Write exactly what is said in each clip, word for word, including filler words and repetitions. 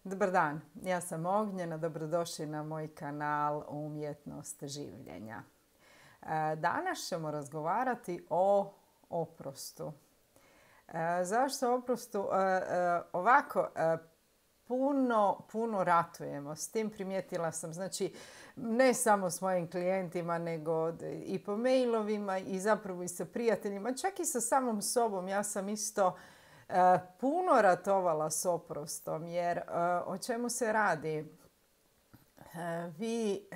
Dobar dan, ja sam Ognjena, dobrodošli na moj kanal Umjetnost življenja. Danas ćemo razgovarati o oprostu. Zašto oprostu? Ovako, puno, puno ratujemo. S tim primijetila sam, znači, ne samo s mojim klijentima, nego i po mailovima i zapravo i sa prijateljima, čak i sa samom sobom. Ja sam isto puno ratovala s oprostom, jer o čemu se radi? Vi,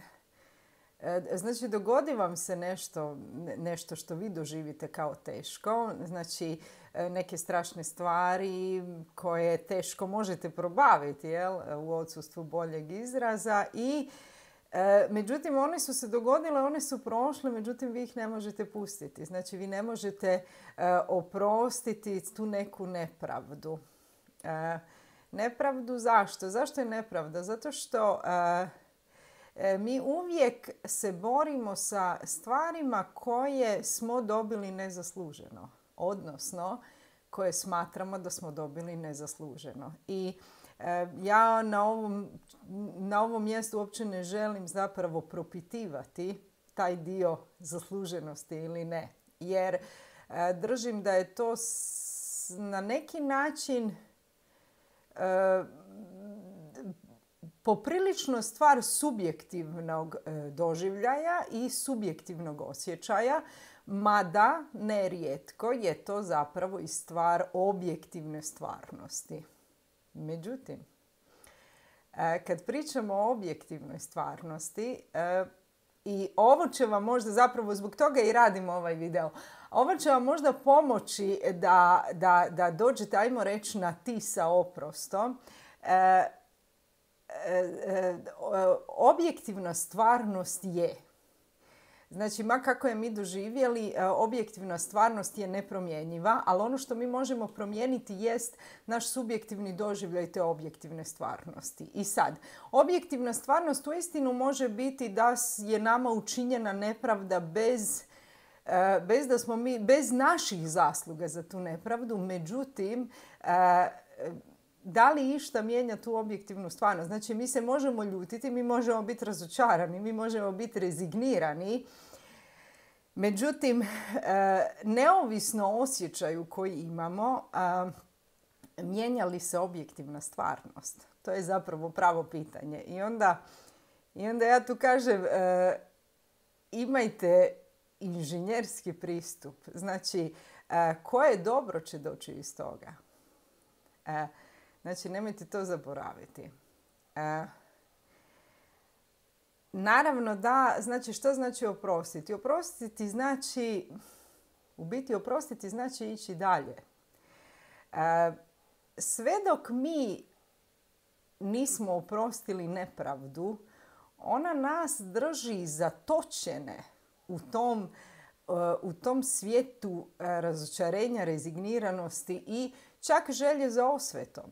znači, dogodi vam se nešto, nešto što vi doživite kao teško, znači neke strašne stvari koje teško možete probaviti, jel, u odsustvu boljeg izraza i E, međutim, one su se dogodile, one su prošle, međutim, vi ih ne možete pustiti. Znači, vi ne možete e, oprostiti tu neku nepravdu. E, nepravdu zašto? Zašto je nepravda? Zato što e, e, mi uvijek se borimo sa stvarima koje smo dobili nezasluženo. Odnosno, koje smatramo da smo dobili nezasluženo. I ja na ovom, na ovom mjestu uopće ne želim zapravo propitivati taj dio zasluženosti ili ne. Jer držim da je to na neki način e, poprilično stvar subjektivnog doživljaja i subjektivnog osjećaja, mada nerijetko je to zapravo i stvar objektivne stvarnosti. Međutim, kad pričamo o objektivnoj stvarnosti, i ovo će vam možda, zapravo zbog toga i radimo ovaj video, ovo će vam možda pomoći da, da, da dođete, ajmo reći, na ti sa oprostom. Objektivna stvarnost je, znači, ma kako je mi doživjeli, objektivna stvarnost je nepromjenjiva, ali ono što mi možemo promijeniti jest naš subjektivni doživljaj te objektivne stvarnosti. I sad, objektivna stvarnost uistinu može biti da je nama učinjena nepravda bez, bez da smo mi, bez naših zasluga za tu nepravdu, međutim, da li išta mijenja tu objektivnu stvarnost? Znači, mi se možemo ljutiti, mi možemo biti razočarani, mi možemo biti rezignirani. Međutim, neovisno o osjećaju koji imamo, mijenja li se objektivna stvarnost? To je zapravo pravo pitanje. I onda, i onda ja tu kažem, imajte inženjerski pristup. Znači, koje dobro će doći iz toga? Znači, nemojte to zaboraviti. E, naravno da, znači, što znači oprostiti? Oprostiti znači, u biti oprostiti znači ići dalje. E, sve dok mi nismo oprostili nepravdu, ona nas drži zatočene u tom, u tom svijetu razočarenja, rezigniranosti i čak želje za osvetom.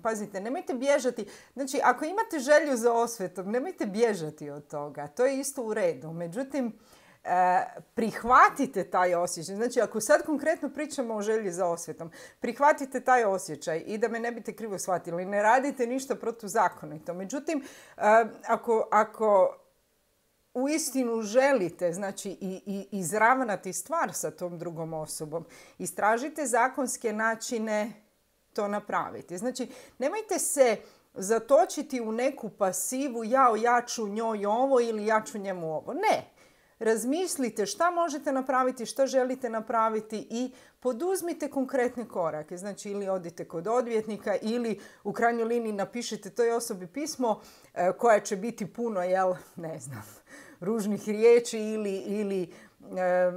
Pazite, nemojte bježati. Znači, ako imate želju za osvetom, nemojte bježati od toga. To je isto u redu. Međutim, prihvatite taj osjećaj. Znači, ako sad konkretno pričamo o želji za osvetom, prihvatite taj osjećaj i da me ne biste krivo shvatili. Ne radite ništa protuzakonito. Međutim, ako, ako uistinu želite, znači, i, i izravnati stvar sa tom drugom osobom, istražite zakonske načine to napraviti. Znači, nemojte se zatočiti u neku pasivu, ja, ja ću njoj ovo ili ja ću njemu ovo. Ne. Razmislite šta možete napraviti, šta želite napraviti i poduzmite konkretne korake. Znači, ili odite kod odvjetnika ili u krajnjoj liniji napišite toj osobi pismo e, koja će biti puno, jel, ne znam, ružnih riječi ili, ili e,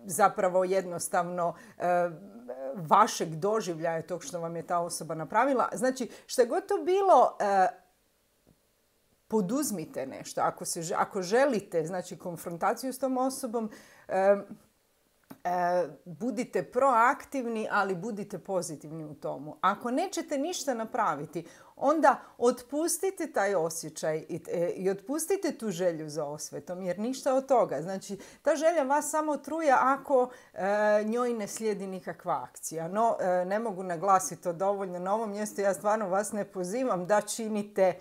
zapravo jednostavno e, vašeg doživljaja tog što vam je ta osoba napravila. Znači, što je god to bilo, e, poduzmite nešto. Ako, se, ako želite, znači, konfrontaciju s tom osobom, e, budite proaktivni, ali budite pozitivni u tomu. Ako nećete ništa napraviti, onda otpustite taj osjećaj i, i otpustite tu želju za osvetom, jer ništa od toga. Znači, ta želja vas samo truje ako e, njoj ne slijedi nikakva akcija. No, e, ne mogu naglasiti to dovoljno na ovom mjestu. Ja stvarno vas ne pozivam da činite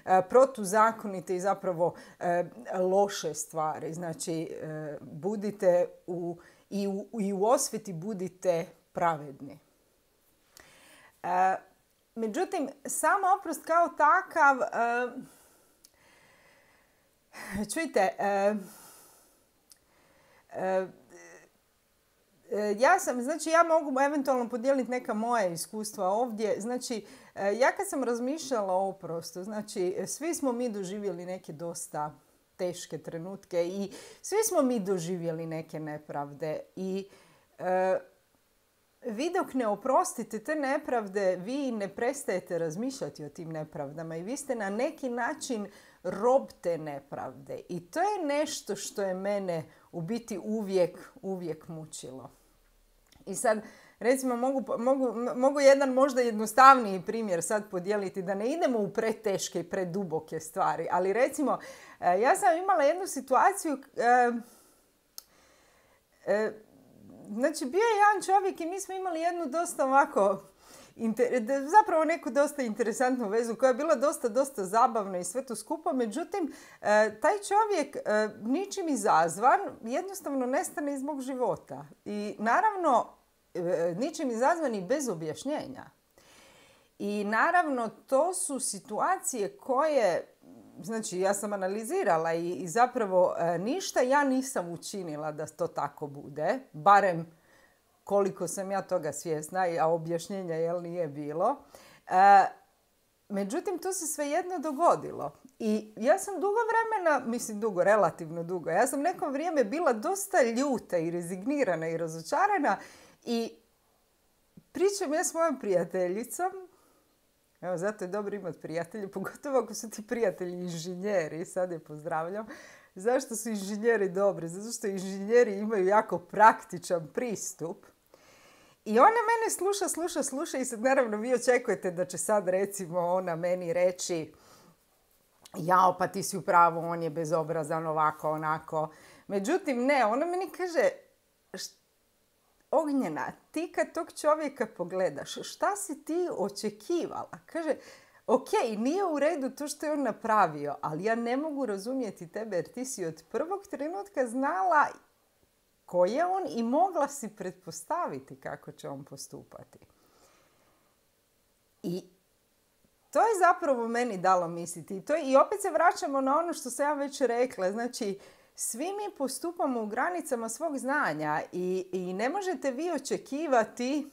e, protuzakonite i zapravo e, loše stvari. Znači, e, budite u I u, i u osveti budite pravedni. E, međutim, sam oprost kao takav, e, čujte, e, e, ja sam, znači ja mogu eventualno podijeliti neka moja iskustva ovdje. Znači, e, ja kad sam razmišljala o oprostu, znači svi smo mi doživjeli neke dosta teške trenutke i svi smo mi doživjeli neke nepravde i e, vi dok ne oprostite te nepravde, vi ne prestajete razmišljati o tim nepravdama i vi ste na neki način rob te nepravde. I to je nešto što je mene u biti uvijek, uvijek mučilo. I sad, recimo, mogu, mogu, mogu jedan možda jednostavniji primjer sad podijeliti, da ne idemo u preteške i preduboke stvari, ali recimo, ja sam imala jednu situaciju, e, e, znači bio je jedan čovjek i mi smo imali jednu dosta ovako, inter, zapravo neku dosta interesantnu vezu koja je bila dosta, dosta zabavna i sve to skupo. Međutim, e, taj čovjek e, ničim izazvan jednostavno nestane iz mog života. I naravno, e, ničim izazvan i bez objašnjenja. I naravno, to su situacije koje, znači ja sam analizirala i, i zapravo e, ništa ja nisam učinila da to tako bude, barem koliko sam ja toga svjesna, a objašnjenja jel nije bilo. E, međutim, to se svejedno dogodilo. I ja sam dugo vremena, mislim dugo, relativno dugo, ja sam neko vrijeme bila dosta ljuta i rezignirana i razočarana i pričam ja s mojom prijateljicom. Evo, zato je dobro imati prijatelje, pogotovo ako su ti prijatelji inženjeri, sad je pozdravljam. Zašto su inženjeri dobri? Zato što inženjeri imaju jako praktičan pristup. I ona mene sluša, sluša, sluša i sad naravno vi očekujete da će sad recimo ona meni reći jao, pa ti si u pravu, on je bezobrazan, ovako, onako. Međutim, ne, ona meni kaže, Ognjena, ti kad tog čovjeka pogledaš, šta si ti očekivala? Kaže, ok, nije u redu to što je on napravio, ali ja ne mogu razumjeti tebe jer ti si od prvog trenutka znala ko je on i mogla si pretpostaviti kako će on postupati. I to je zapravo meni dalo misliti. I, to je, i opet se vraćamo na ono što sam ja već rekla. Znači, svi mi postupamo u granicama svog znanja i, i ne možete vi očekivati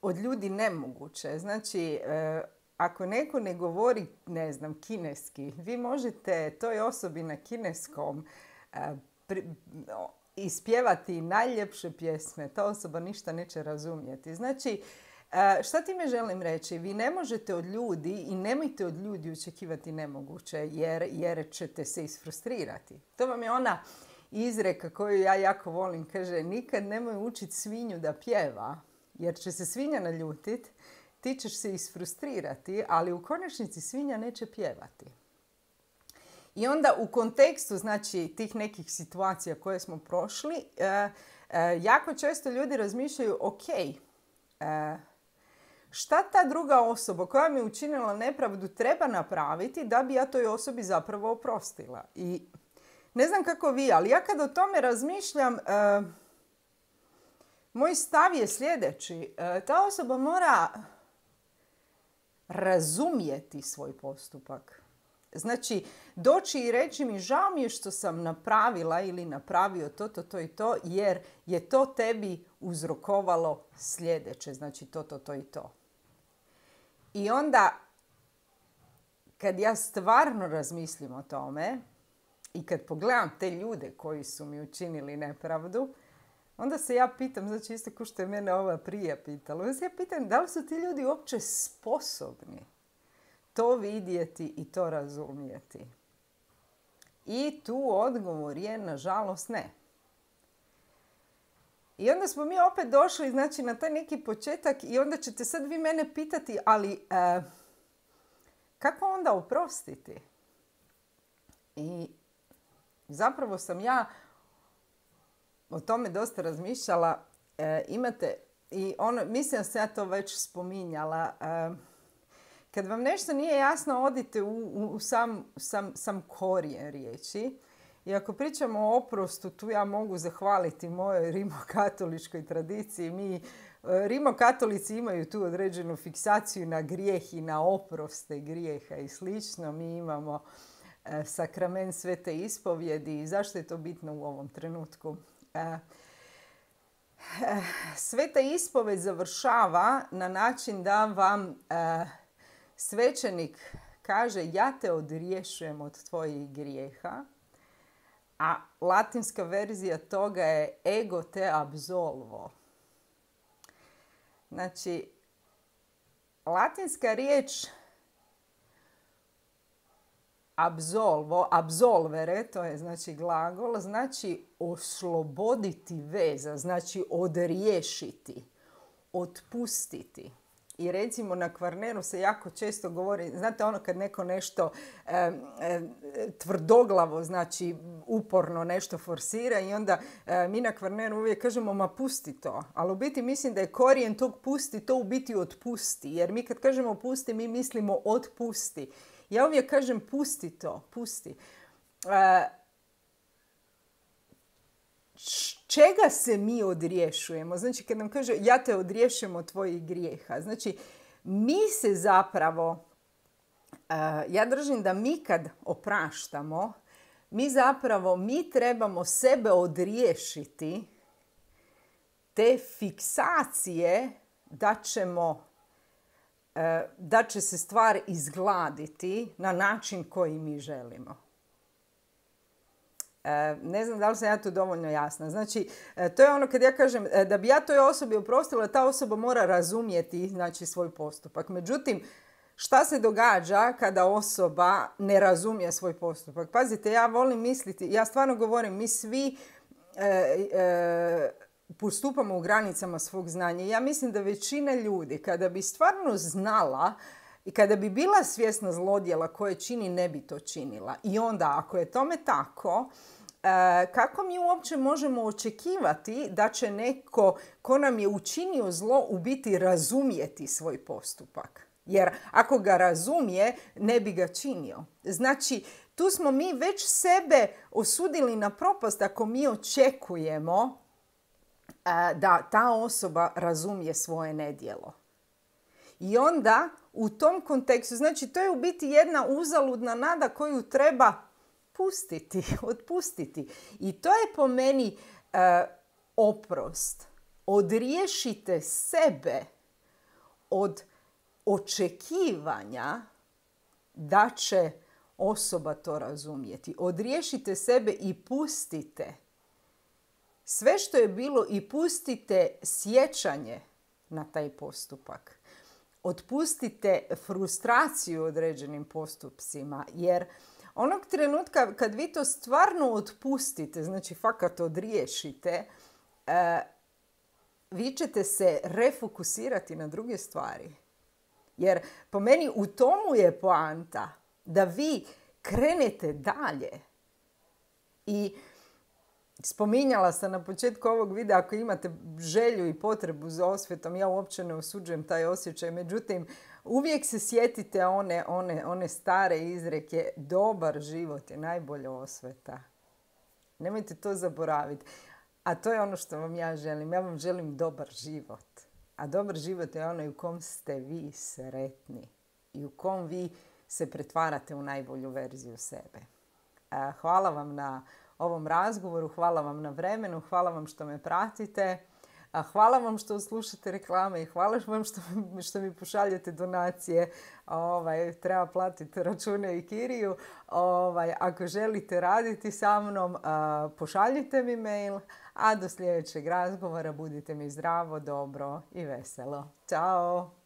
od ljudi nemoguće. Znači, e, ako neko ne govori, ne znam, kineski, vi možete toj osobi na kineskom e, pri, no, ispjevati najljepše pjesme. Ta osoba ništa neće razumjeti. Znači, e, šta time želim reći? Vi ne možete od ljudi i nemojte od ljudi očekivati nemoguće jer, jer ćete se isfrustrirati. To vam je ona izreka koju ja jako volim. Kaže, nikad nemoj učiti svinju da pjeva jer će se svinja naljutiti, ti ćeš se isfrustrirati, ali u konačnici svinja neće pjevati. I onda u kontekstu, znači, tih nekih situacija koje smo prošli, e, e, jako često ljudi razmišljaju, ok, e, šta ta druga osoba koja mi je učinila nepravdu treba napraviti da bi ja toj osobi zapravo oprostila. I ne znam kako vi, ali ja kad o tome razmišljam, e, moj stav je sljedeći. E, ta osoba mora razumjeti svoj postupak. Znači, doći i reći mi žao mi je što sam napravila ili napravio to, to, to i to, jer je to tebi uzrokovalo sljedeće. Znači, to, to, to i to. I onda, kad ja stvarno razmislim o tome i kad pogledam te ljude koji su mi učinili nepravdu, onda se ja pitam, znači isto kao što je mene ova prije pitala, onda se ja pitam da li su ti ljudi uopće sposobni to vidjeti i to razumjeti. I tu odgovor je, nažalost, ne. I onda smo mi opet došli, znači, na taj neki početak i onda ćete sad vi mene pitati, ali e, kako onda oprostiti? I zapravo sam ja o tome dosta razmišljala. E, imate, i ono, mislim da sam ja to već spominjala, e, kad vam nešto nije jasno, odite u, u sam, sam, sam korijen riječi. I ako pričamo o oprostu, tu ja mogu zahvaliti mojoj rimokatoličkoj tradiciji. Mi, rimokatolici imaju tu određenu fiksaciju na grijeh i na oproste grijeha i slično. Mi imamo e, sakrament svete ispovjedi. I zašto je to bitno u ovom trenutku? E, e, sveta ispovjed završava na način da vam e, svećenik kaže ja te odriješujem od tvojih grijeha. A latinska verzija toga je ego te absolvo. Znači, latinska riječ absolvo, absolvere, to je znači glagol, znači osloboditi veza, znači odriješiti, otpustiti. I recimo na Kvarneru se jako često govori, znate ono kad neko nešto e, e, tvrdoglavo, znači uporno nešto forsira i onda e, mi na Kvarneru uvijek kažemo ma pusti to. Ali u biti mislim da je korijen tog pusti, to u biti otpusti. Jer mi kad kažemo pusti, mi mislimo otpusti. Ja uvijek kažem pusti to, pusti. E, čega se mi odriješujemo? Znači, kad nam kaže ja te odriješujem od tvojih grijeha. Znači, mi se zapravo, uh, ja držim da mi kad opraštamo, mi zapravo, mi trebamo sebe odriješiti te fiksacije da ćemo, uh, da će se stvar izgladiti na način koji mi želimo. Ne znam da li sam ja tu dovoljno jasna. Znači, to je ono kad ja kažem da bi ja toj osobi oprostila, ta osoba mora razumjeti, znači, svoj postupak. Međutim, šta se događa kada osoba ne razumije svoj postupak? Pazite, ja volim misliti, ja stvarno govorim, mi svi e, e, postupamo u granicama svog znanja. Ja mislim da većina ljudi, kada bi stvarno znala i kada bi bila svjesna zlodjela koje čini, ne bi to činila. I onda, ako je tome tako, kako mi uopće možemo očekivati da će neko ko nam je učinio zlo u biti razumjeti svoj postupak? Jer ako ga razumije, ne bi ga činio. Znači, tu smo mi već sebe osudili na propast ako mi očekujemo da ta osoba razumije svoje nedjelo. I onda u tom kontekstu, znači to je u biti jedna uzaludna nada koju treba pustiti, otpustiti. I to je po meni uh, oprost. Odriješite sebe od očekivanja da će osoba to razumjeti. Odriješite sebe i pustite sve što je bilo i pustite sjećanje na taj postupak. Otpustite frustraciju određenim postupcima, jer onog trenutka kad vi to stvarno otpustite, znači fakat odriješite, e, vi ćete se refokusirati na druge stvari. Jer po meni u tomu je poanta da vi krenete dalje. I spominjala sam na početku ovog videa, ako imate želju i potrebu za osvetom, ja uopće ne osuđujem taj osjećaj. Međutim, uvijek se sjetite one, one, one stare izreke, dobar život je najbolja osveta. Nemojte to zaboraviti. A to je ono što vam ja želim. Ja vam želim dobar život. A dobar život je onaj u kom ste vi sretni i u kom vi se pretvarate u najbolju verziju sebe. Hvala vam na ovom razgovoru, hvala vam na vremenu, hvala vam što me pratite, hvala vam što slušate reklame i hvala vam što, što mi pošaljete donacije. Ovaj, treba platiti račune i kiriju. Ovaj, ako želite raditi sa mnom, pošaljite mi mail, a do sljedećeg razgovora budite mi zdravo, dobro i veselo. Ćao!